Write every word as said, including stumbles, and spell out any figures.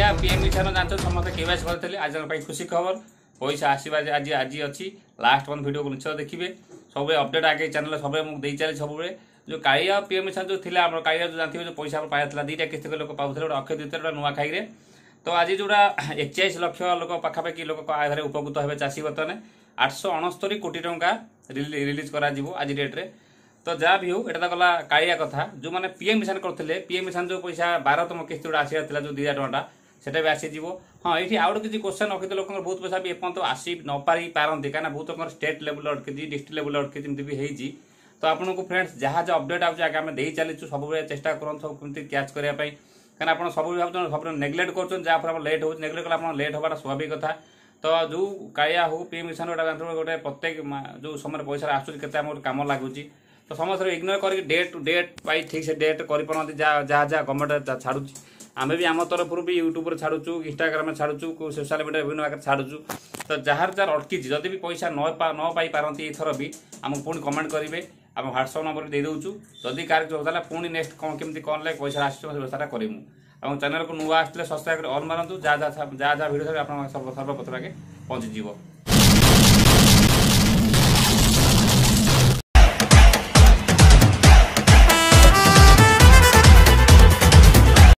Kalia PM କିଷାନ ଜାଣିଛ ସମସ୍ତେ KYC କରିଥିଲେ ଆଜି ତାଙ୍କ ପାଇଁ ଖୁସି ଖବର ପଇସା ଆସିବା ଆଜି ଆଜି ଅଛି ଲାଷ୍ଟ ୱାନ୍ ଭିଡ଼ିଓକୁ ନିଶ୍ଚୟ ଦେଖିବେ ସବୁବେଳେ ଅପଡେଟ୍ ଆଗେ ଚ୍ୟାନେଲ୍ ସବୁବେଳେ ମୁଁ ଦେଇ ଚାଲିଛି ସବୁବେଳେ ଯେଉଁ କାଳିଆ ପିଏମ୍ କିଷାନ ଯେଉଁ ଥିଲା ଆମର କାଳିଆ ଯେଉଁ ଜାଣିଥିବେ ଯେଉଁ ପଇସା ଆମର ପାଇଥିଲା ଦୁଇଟା କିସ୍ତି କରି ଲୋକ ପାଉଥିଲେ ଗୋଟେ ଅକ୍ଷୟ ତୃତୀୟରେ ଗୋଟେ ନୂଆଖାଇରେ ତ ଆଜି ଯେଉଁଟା ଏକଚାଳିଶ ଲକ୍ଷ ଲୋକ ପାଖାପାଖି ଲୋକ ଆଧାରେ ଉପକୃତ ହେବେ ଚାଷୀ ବର୍ତ୍ତମାନ ଆଠଶହ ଅଣସ୍ତରୀ କୋଟି ଟଙ୍କା ରିଲିଜ୍ କରାଯିବ ଆଜି ଡେଟ୍ରେ ତ ଯାହା ବି ହଉ ଏଇଟା ତ ଗଲା କାଳିଆ କଥା ଯେଉଁମାନେ ପିଏମ୍ କିଷାନ କରୁଥିଲେ ପିଏମ୍ କିଷାନ ଯେଉଁ ପଇସା ବାରତମ କିସ୍ତି ଗୋଟେ ଆସିବାର ଥିଲା ଯେଉଁ ଦୁଇ ହଜାର ଟଙ୍କାଟା ସେଟା ବି ଆସିଯିବ ହଁ ଏଇଠି ଆଉ ଗୋଟେ କିଛି କ୍ୱେଶ୍ଚନ୍ ଅଖିତ ଲୋକଙ୍କର ବହୁତ ପଇସା ବି ଏପର୍ଯ୍ୟନ୍ତ ଆସି ନ ପାରି ପାରନ୍ତି କାହିଁକିନା ବହୁତ ଲୋକଙ୍କର ଷ୍ଟେଟ୍ ଲେବୁଲ୍ ଅଟକିଛି ଡିଷ୍ଟ୍ରିକ୍ଟ ଲେବୁଲ୍ ଅଟକିଛି ଯେମିତି ବି ହେଇଛି ତ ଆପଣଙ୍କୁ ଫ୍ରେଣ୍ଡସ୍ ଯାହା ଯାହା ଅପଡେଟ୍ ଆଉଛି ଆଗେ ଆମେ ଦେଇ ଚାଲିଛୁ ସବୁବେଳେ ଚେଷ୍ଟା କରନ୍ତୁ ସବୁ କେମିତି କ୍ୟାଚ୍ କରିବା ପାଇଁ କାହିଁକିନା ଆପଣ ସବୁ ଭାବୁଛନ୍ତି ସବୁ ନେଗ୍ଲେକ୍ଟ କରୁଛନ୍ତି ଯାହାଫଳରେ ଆପଣ ଲେଟ୍ ହେଉଛି ନେଗ୍ଲେକ୍ଟ କଲେ ଆପଣ ଲେଟ୍ ହେବାଟା ସ୍ୱାଭାବିକ କଥା ତ ଯେଉଁ କାଳିଆ ହଉ ପିଏମ୍ କିଷାନ ଗୋଟେ ଜାଣିଥିବ ଗୋଟେ ପ୍ରତ୍ୟେକ ଯେଉଁ ସମୟରେ ପଇସା ଆସୁଛି କେତେ ଆମର କାମ ଲାଗୁଛି ତ ସମସ୍ତେ ଇଗ୍ନୋର କରିକି ଡେଟ୍ ଟୁ ଡେଟ୍ ପାଇ ଠିକ୍ ସେ ଡେଟ୍ କରିପାରୁନାହାନ୍ତି ଯାହା ଯାହା ଯାହା ଗଭର୍ଣ୍ଣମେଣ୍ଟ ଛାଡ଼ୁଛି ଆମେ ବି ଆମ ତରଫରୁ ବି ୟୁଟ୍ୟୁବରେ ଛାଡ଼ୁଛୁ ଇନଷ୍ଟାଗ୍ରାମରେ ଛାଡ଼ୁଛୁ ସୋସିଆଲ ମିଡ଼ିଆ ବିଭିନ୍ନ ଆକାରରେ ଛାଡ଼ୁଛୁ ତ ଯାହାର ଯାହାର ଅଟକିଛି ଯଦି ବି ପଇସା ନ ନ ପାଇପାରନ୍ତି ଏଇଥର ବି ଆମକୁ ପୁଣି କମେଣ୍ଟ କରିବେ ଆମ ହ୍ୱାଟ୍ସଆପ୍ ନମ୍ବର ବି ଦେଇଦେଉଛୁ ଯଦି କାହାର କିଛି ତାହେଲେ ପୁଣି ନେକ୍ସଟ କ'ଣ କେମିତି କ'ଣ ହେଲେ ପଇସା ଆସିବ ସେ ବ୍ୟବସ୍ଥାଟା କରିମୁ ଏବଂ ଚ୍ୟାନେଲକୁ ନୂଆ ଆସିଥିଲେ ସବସ୍କ୍ରାଇବ୍ କରି ଅଲ୍ ମାରନ୍ତୁ ଯାହା ଯାହା ଯାହା ଯାହା ଭିଡ଼ିଓ ଆପଣ ସର୍ବପ୍ରଥମେ ଆଗେ ପହଞ୍ଚିଯିବ